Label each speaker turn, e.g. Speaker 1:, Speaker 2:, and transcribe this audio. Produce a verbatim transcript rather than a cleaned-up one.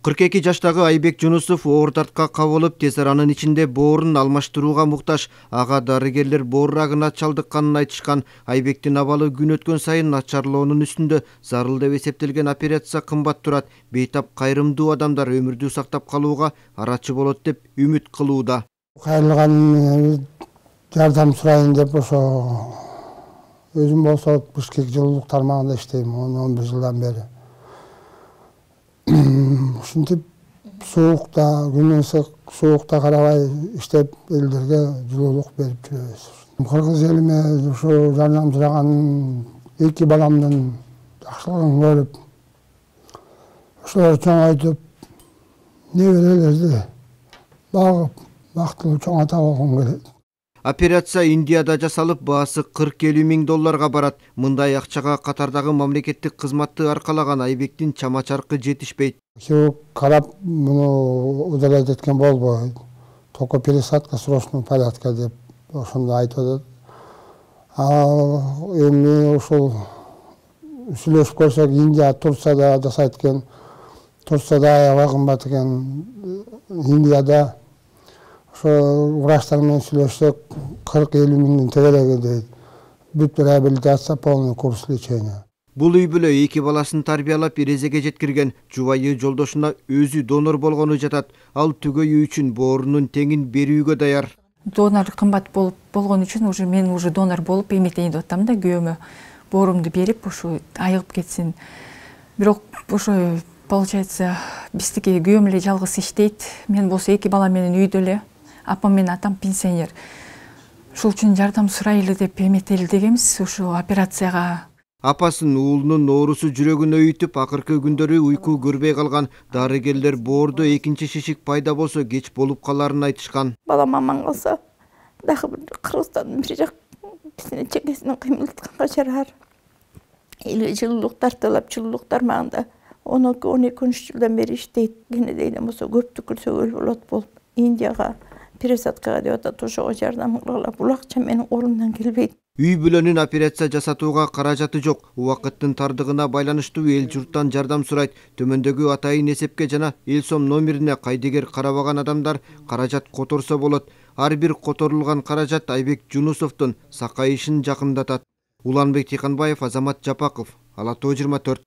Speaker 1: кырк эки жаштагы Айбек Жунусов оор дартка кабылып, тез аранын ичинде боорун алмаштырууга муктаж. Ага дарыгерлер боор рагына чалдыкканын айтышкан. Айбектин абалы күн өткөн сайын начарлоонун үстүндө. Зарыл деп эсептелген операция кымбат турат. Бейтап кайрымдуу адамдар өмүрдү сактап калууга арачы болот деп үмүт кылууда.
Speaker 2: Кайрылган жардам сурайын деп ошо өзүм болсо Бишкек жылуулук тармагында иштейм он бир жылдан бери. Ушинтип суукта, күнүн ысык суукта карабай иштеп элдерге жылуулук берип жүрөбүз. Кыргыз элиме ушу жардам сураган эки баламдын жакшылыгын көрүп, ошолорду чоңойтуп, неберелерди багып, бактылуу чоңойто болгум келет.
Speaker 1: Операция Индияда жасалып, баасы кырк элүү миң долларга барат. Мындай акчага катардагы мамлекеттик кызматты аркалаган Айбектин чама-чаркы жетишпейт.
Speaker 2: Хирург карап, муну удалять эткен болбойт. Только пересадка срочный порядка деп ошондо айтып атат. А эми ушул сүйлөшүп көрсөк, Индия, Турцияда жасайт экен. Турцияда аябай кымбат экен. Индияда ошо врачтар менен сүйлөшсөк, кырк элүү миңдин тегереги дейт. Бүт реабилитация, полный курс лечения.
Speaker 1: Бул үй бүлө эки баласын тарбиялап эрезеге жеткирген. Жубайы жолдошуна өзү донор болгону жатат. Ал түгөйүү үчүн боорунун теңин берүүгө даяр.
Speaker 3: Донор кымбат болуп болгон үчүн уже мен уже донор болуп эметейин деп атам да, күйөөмө боорумду берип, ошо айыгып кетсин. Бирок ошо получается биздики күйөөм эле жалгыз иштейт. Мен болсо эки бала менен үйдө эле. Апам менен атам пенсионер. Ошол үчүн жардам сурайлы деп эметели дегенбиз ошо операцияга.
Speaker 1: Апасын уулунун оорусу жүрөгүн өйүтүп, акыркы күндөрү уйку көрбөй калган. Дарыгерлер боордо экинчи шишик пайда болсо кеч болуп каларын айтышкан.
Speaker 4: Балам аман калса, дагы бир Кыргызстандын бир жак кисине чекесинен кыймылдатканга жарар. Или жылуулук тартылып, жылуулук тармагында он эки он үч жылдан бери иштейт. Кенедейден болсо көп түкүрсөгөл болот болуп, Индияга пересадкага деп атат, ошого жардам кылгыла. Бул акча менин колумдан келбейт.
Speaker 1: Үй бүлөнүн операция жасатууга каражаты жок. Убакыттын тардыгына байланыштуу эл журттан жардам сурайт. Төмөндөгү атайын эсепке жана эл сом номерине кайдыгер карабаган адамдар каражат которсо болот. Ар бир которулган каражат Айбек Жунусовдун сакайышын жакындатат. Уланбек Тыйканбаев, Азамат Жапаков, Ала Тоо жыйырма төрт.